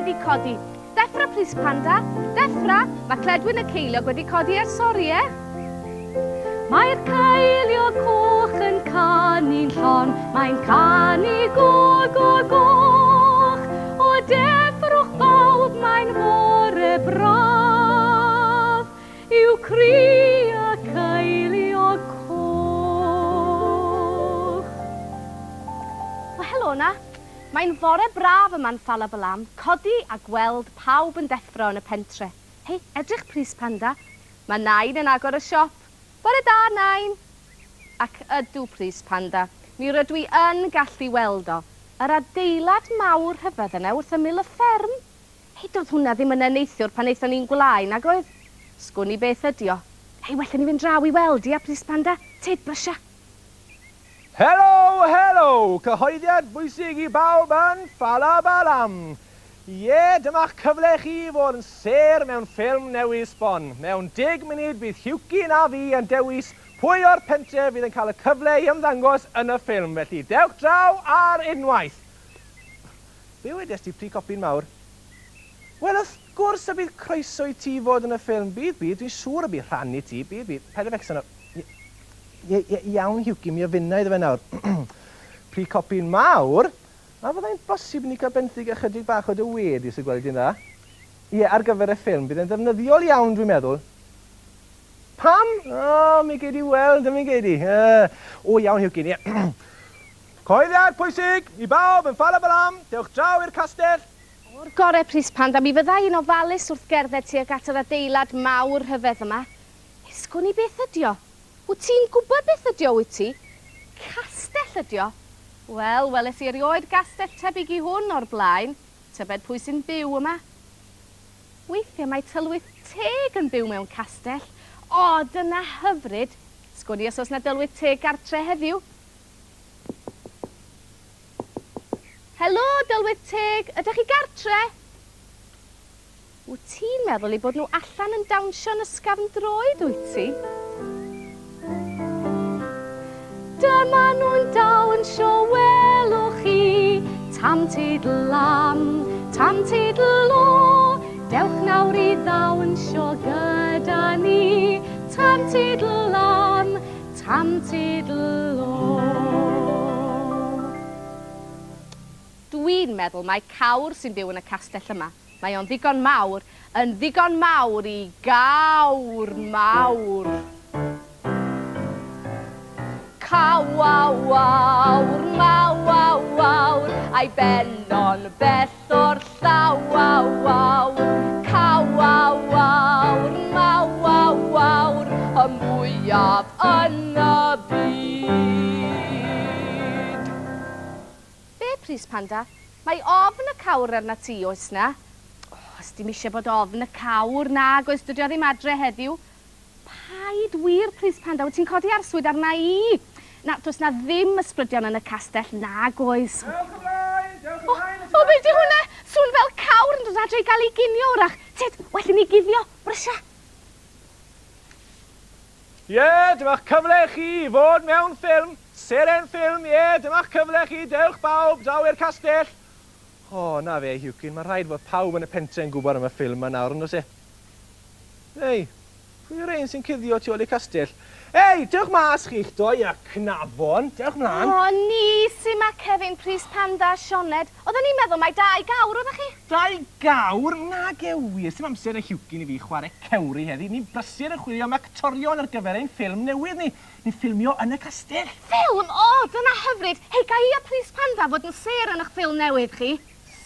wedi codi. Deffra, Plis Panda, deffra! Mae Cledwyn y ceiliog wedi codi ers oriau. Mae'r ceiliog coch yn canu'n llon, mae'n canu go, go, goch. O deffrwch bawb, mae'n fore braf, yw cri y ceiliog coch. O, helo 'na. Mae'n fore braf yma'n Ffalabalam, codi a gweld pawb yn deffro yn y pentre. Hei, edrych Plis Panda, mae Nain yn agor y siop. Bore da, Nain! Ac ydw, Plis Panda, mi rydw i yn gallu weld o. Yr adeilad mawr rhyfedd yna wrth ymyl y fferm. Hei, doedd hwnna ddim yna neithiwr pan aethon ni'n gwlâu, nag oedd? Sgwn i beth ydi o. Hei, well i ni fynd draw i weld, ia, Plis Panda? Tyd, brysia! Helo, helo! Cyhoeddiad bwysig i bawb yn Ffalabalam! Ie, dyma'ch cyfle chi i fod yn sêr mewn ffilm newydd sbon. Mewn deg munud bydd Huwcyn a fi yn dewis pwy o'r pentref fydd yn cael y cyfle i ymddangos yn y ffilm, felly dewch draw ar unwaith! Be wedest ti, pry copyn mawr? Wel, wrth gwrs y bydd croeso i ti fod yn y ffilm, bydd, bydd, dwi'n siŵr y bydd rhan i ti, bydd, bydd, paid â becso nawr. Ie, ie, ie, iawn, Hughie, mi ofynna iddo fe nawr. Pry copyn mawr, a fyddai'n bosib i ni cael benthyg ychydig bach o dy wedd i, os y gweli di'n dda? Ie, ar gyfer y ffilm, bydd e'n ddefnyddiol iawn, dwi'n meddwl. Pam? O, mi gei di weld, mi gei di. Yy, o, iawn, Hughie, ie. Coeddiad pwysig i bawb yn Ffalabalam, dewch draw i'r castell. O'r gore, Pris Panda, mi fydda i'n ofalus wrth gerdded tuag at yr adeilad mawr rhyfedd yma. Hei, sgwn i beth ydi o? Wyt ti'n gwybod beth ydi o, wyt ti? Castell ydi o. Wel, weles i erioed gastell tebyg i hwn o'r blaen. Tybed pwy sy'n byw yma? Weithiau mae tylwyth teg yn byw mewn castell. O, dyna hyfryd! Sgwn i os oes 'na dylwyth teg gartre heddiw? Helo, Dylwyth Teg, ydych chi gartre? Wyt ti'n meddwl eu bod nhw allan yn dawnsio'n ysgafn droed, wyt ti? Dyma nhw'n dawnsio, welwch chi, tam teidl lam, tam teidl o. Dewch nawr i ddawnsio gyda ni, tam teidl lam, Tam teidl o. Dwi'n meddwl mai cawr sy'n byw yn y castell yma. Mae o'n ddigon mawr, yn ddigon mawr i gawr mawr. Caw-aw-awr, maw-aw-awr, a'i ben o'n bell o'r llaw-aw-awr. Caw-aw-awr, maw-aw-awr, y mwyaf yn y byd. Be, Pris Panda? Mae ofn y cawr arnat ti, oes 'na? O, sdim isie bod ofn y cawr, nag oes, dydi o ddim adre heddiw. Paid wir, Plis Panda, wyt ti'n codi arswyd arna i? Na, does 'na ddim ysbrydion yn y castell, nag oes. Dewch ymlaen, dewch ymlaen, O, o, be' 'di hwnna? Sŵn fel cawr yn dod adre i gael ei ginio, wrach. Tyd, well i ni guddio. Brysia. Ie, dyma'ch cyfle chi i fod mewn ffilm, seren ffilm, ie, dyma'ch cyfle chi, dewch bawb, draw i'r castell. O, na fe, Huwcyn, mae rhaid fod pawb yn y pentre yn gwybod am y ffilm 'ma nawr, yn does e? Ei, pwy yw'r un sy'n cuddio tu ôl i'r castell? Ei, dewch mas chi'ch dou a cnafon, dewch mlaen. O, ni sy 'ma, Kevin, Prys Panda a Sioned. Oedden ni'n meddwl mai dau gawr oeddech chi. Dau gawr? Nage wir, sdim amser 'da Huwcyn i fi chware cewri heddi. Ni'n brysur yn chwilio am actorion ar gyfer ein ffilm newydd ni. Ni'n ffilmio yn y castell. Ffilm? O, dyna hyfryd. Hei, ga i a Prys Panda fod yn sêr yn 'ych ffilm newydd chi?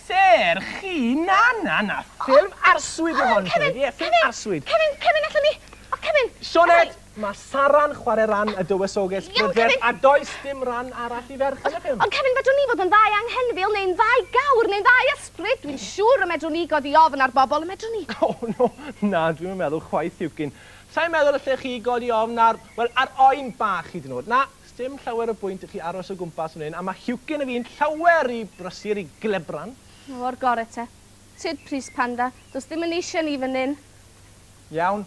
Sêr chi? Na, na, na, ffilm arswyd yw hon, Sioned, ie, ffilm arswyd. Kevin, Kevin, allwn ni... O, Kevin! Sioned, mae Sara'n chwarae ran y dywysoges brydferth, a does dim ran arall i ferch yn y ffilm. Ond Kevin, fedrwn ni fod yn ddau anghenfil, neu'n ddau gawr, neu'n ddau ysbryd. Dwi'n siŵr y medrwn ni godi ofn ar bobl, y medrwn ni? O, no, na, dwi'm yn meddwl chwaith, Huwcyn. Sa i'n meddwl allech chi godi ofn ar, wel, ar oen bach hyd yn oed. Na, Sdim llawer o bwynt i chi aros o gwmpas fan hyn, a ma' Huwcyn a fi'n llawer i brysur i glebran. O'r gore te. Tyd Prys Panda, does dim yn eisiau ni fan hyn. Iawn.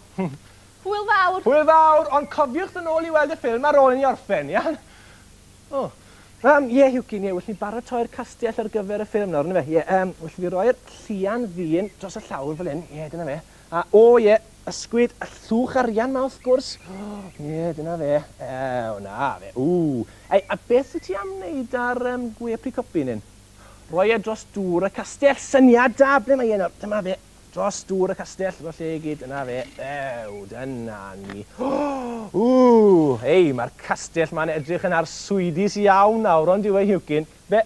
Hwyl fawr! Hwyl fawr, ond cofiwch ddod nôl i weld y ffilm ar ôl i ni orffen, iawn? O, Ie, Huwcyn, ie, well ni baratoi'r castell ar gyfer y ffilm nawr, yndyfe? Ie, well fi roi'r llian ddyn dros y llawr fel hyn. Ie, dyna fe. A, o, ie, ysgwyd y llwch arian 'ma wrth gwrs. Ie, dyna fe. Ew, na fe. Ww. Ei, a beth wyt ti am wneud ar gwe pry copyn hyn? Roi e dros dŵr y castell. Syniad da! Ble mae e nawr? Dyma fe. Dros dŵr y castell, dros lle i gyd, dyna fe. Ew, dyna ni. Ww, ei, mae'r castell ma'n edrych yn arswydus iawn nawr, ond yw e, Huwcyn? Be?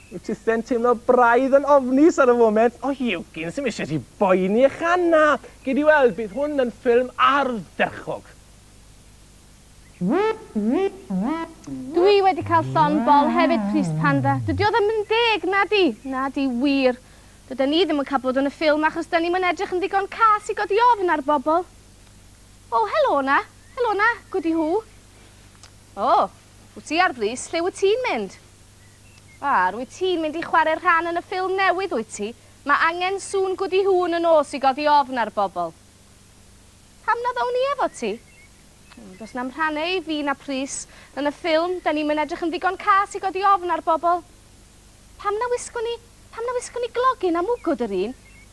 Wyt tithen teimlo braidd yn ofnus ar y foment? O, Huwcyn, sy'm eisiau ti boeni eich na. Gei di weld, bydd hwn yn ffilm ardderchog. Dwi wedi cael llond bol hefyd, Pris Panda. Dydy o ddim yn deg, na di? Na di, wir. Dydan ni ddim yn cael bod yn y ffilm achos da ni'm yn edrych yn ddigon cas i godi ofn ar bobl. O, helo na. Helo na, Gwdi Hw. O, wyt ti ar frys, lle wyt ti'n mynd? A, rwyt ti'n mynd i chwarae rhan yn y ffilm newydd, wyt ti? Mae angen sŵn Gwdi Hw yn y nos i godi ofn ar bobl. Pam na ddown ni efo ti? Does na'm rhannau i fi na Prys yn y ffilm, da ni'm yn edrych yn ddigon cas i godi ofn ar bobl. Pam na wisgwn ni, pam na wisgwn ni glogyn a mwgwd yr un?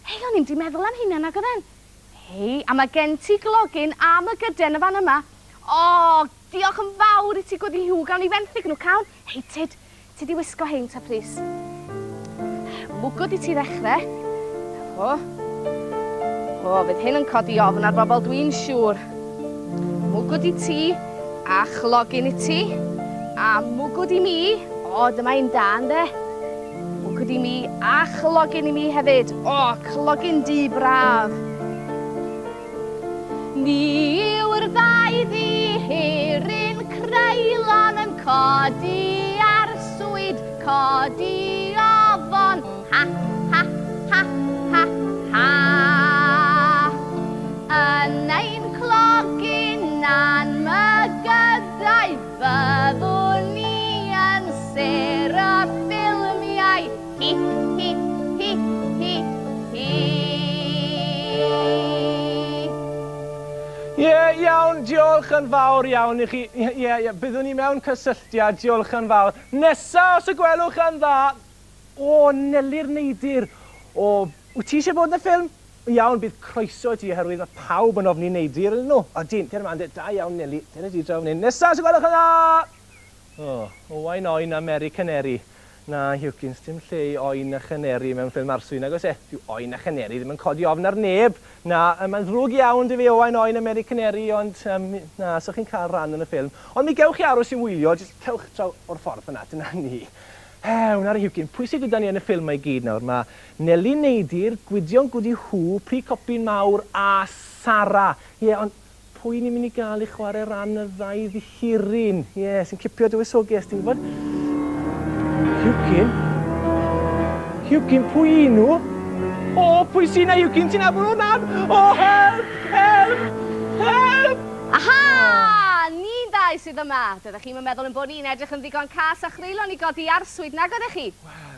Hei, o'n i'm di meddwl am hynna nag oedden. Hei, a mae gen ti glogyn a mygyden y fan yma. O, diolch yn fawr i ti Gwdi Hw, gawn ni fenthyg nhw, cawn? Hei, tyd, ti di wisgo hein ta, Prys. Mwgwd i ti ddechrau. O, o, fydd hyn yn codi ofn ar bobl, dwi'n siŵr. Mwgwd i ti, a chlogyn i ti, a mwgwd i mi. O, dyma un da, ynde? Mwgwd i mi, a chlogyn i mi hefyd. O, clogyn du braf. Ni yw'r ddau ddihiryn creulon yn codi arswyd, codi ofon. Ha, ha, ha, ha, ha. Yn ein clogyn a'n mygydau fyddwn ni yn sêr y ffilmiau. Hi, hi, hi, hi, hi. Ie, iawn, diolch yn fawr iawn i chi. Ie, ie, byddwn ni mewn cysylltiad, diolch yn fawr. Nesa, os y gwelwch yn dda. O, Neli'r Neidir. O, wyt ti eisiau bod yn y ffilm? Iawn, bydd croeso i ti oherwydd mae pawb yn ofni Neidir ydyn nhw. O, dyn, cer yma, da iawn, Neli. Dyna ti draw fan hyn. Nesa, os y gwelwch yn dda! O, Owain Oen a Mary Canary. Na, Huwcyn, dim lle i oen a chaneri mewn ffilm arswyd, nag oes e? Dyw oen a chaneri ddim yn codi ofn ar neb. Na, mae'n ddrwg iawn 'da fi Owain Oen a Mary Canary, ond na, so chi'n cael rhan yn y ffilm. Ond mi gewch chi aros i wylio, jyst cewch draw o'r ffordd fyna, dyna ni. Ew, nawr Huwcyn, pwy sydd gyda ni yn y ffilm mae gyd nawr? Mae Neli Neidir, Gwydion Gwdi Hw, Pry Copyn Mawr a Sara. Ie, ond pwy ni'n mynd i gael i chwarae ran y ddau ddihiryn? Ie, sy'n cipio dywysoges, ti'n gwybod? Huwcyn? Huwcyn, pwy y'n nhw? O, pwy sy'n na, Huwcyn? Ti'n nabod nhw nan? O, help! Help! Help! Aha! Ni'n ddau sydd yma. Doeddech chi'm yn meddwl ein bod ni'n edrych yn ddigon cas a chreulon i godi arswyd, nag oeddech chi?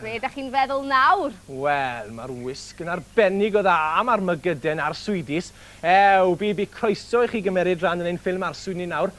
Be ydych chi'n feddwl nawr? Wel, mae'r wisg yn arbennig o dda, a mae'r mygyden arswydus. Ew, bu croeso i chi gymeryd rhan yn ein ffilm arswyd ni nawr.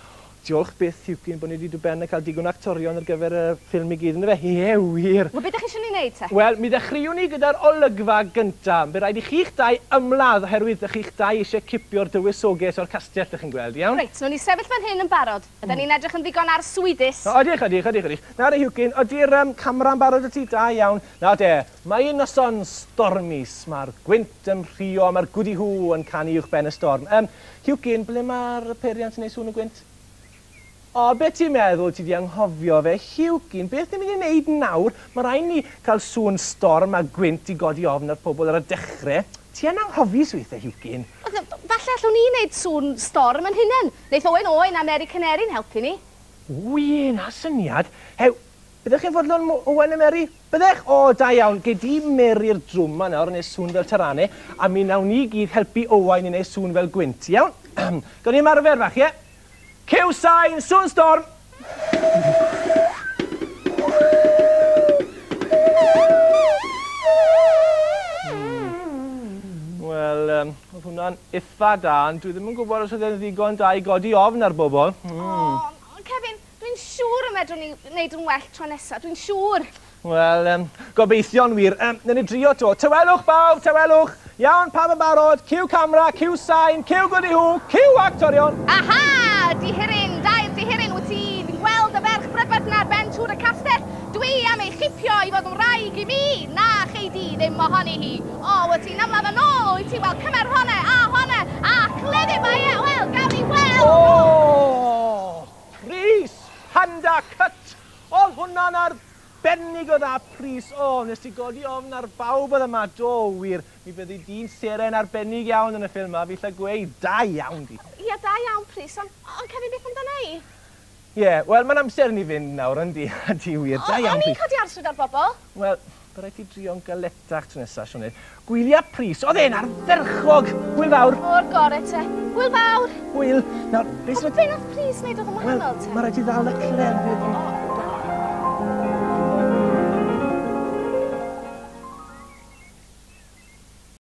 Diolch byth, Huwcyn, bod ni wedi dod ben a cael digon o actorion ar gyfer y ffilm i gyd, yndyfe? Ie, wir. Wel, beth ydych chi eisiau ni wneud te? Wel, mi ddechreuwn ni gyda'r olygfa gyntaf. Bydd rhaid i chi'ch dau ymladd oherwydd ydych chi'ch dau eisiau cipio'r dywysoges o'r castell, ydych chi'n gweld, iawn? Reit, nawn ni sefyll fan hyn yn barod. Ydyn ni'n edrych yn ddigon arswydus? O, ydych, ydych, ydych, ydych. Nawr, Huwcyn, ydy'r camera'n barod y ti? Da iawn. Na de, mae un noson stormus, mae'r gwynt yn rhuo, mae'r Gwdi Hw yn canu uwch ben y storm. Huwcyn, ble mae'r peiriant yn neud sŵn y gwynt? O, beth ti'n meddwl ti di anghofio fe? Huwcyn, beth ni'n mynd i wneud nawr? Mae rhaid ni cael sŵn storm a gwynt i godi ofn ar pobl ar y dechrau. Ti yn anghofus weithiau, Huwcyn. Falle allwn ni wneud sŵn storm yn hunain. Neith Owen Owen a Mary Canary'n helpu ni. O ie, na syniad. Hew, byddech chi'n fodlon Owen a Mary? Byddech? O, da iawn. Gei di Mary'r drwm ma nawr yn neud sŵn fel tarane, a mi nawn ni gyd helpu Owain i wneud sŵn fel gwynt, iawn? Gawn ni ymarfer fach, ie? Cyw sain, sŵn storm! Wel, oedd hwnna'n itha da, ond dwi ddim yn gwybod os oedd e'n ddigon da i godi ofn ar bobl. O, Kevin, dwi'n siŵr y fedrwn ni wneud yn well tro nesa, dwi'n siŵr. Wel, gobeithio'n wir. Newn ni drio 'to. Tawelwch bawb, tawelwch! Iawn, pawb yn barod? Ciw camera, ciw sain, ciw gwdihŵ, ciw actorion! Aha! Dihiryn, dair dihiryn, wyt ti'n gweld y ferch brydferth 'na ar ben tŵr y castell? Dwi am ei chipio i fod yn wraig i mi! Na, chei di ddim mohoni hi! O, wyt ti'n ymladd yn ôl, wyt ti? Wel, cymer honna, a honna, a cleddyf, mae e, wel, gawn ni weld! O! Prys! Panda cut! Oedd hwnna'n arbennig o dda, Prys. O, nes ti godi ofn ar bawb oedd yma. Do, wir. Mi fyddi di'n seren arbennig iawn yn y ffilm 'ma, fi 'lla gweud. Da iawn di. Ia, da iawn, Prys, ond, ond Kevin, beth amdana i? Ie, wel, mae'n amser i ni fynd nawr, yndi? Ydi wir. Da iawn, O'n i'n Prys. codi arswyd ar bobl. Wel, bydd rhaid ti drio'n galetach tro nesaf, Sioned. Gwylia Prys, oedd e'n ardderchog! Hwyl fawr! O'r gore te. Hwyl fawr! Hwyl! Nawr, beth sy'n... Be nath Prys wneud oedd yn Wel, wahanol te? mae rhaid ti ddal y clefyd. O.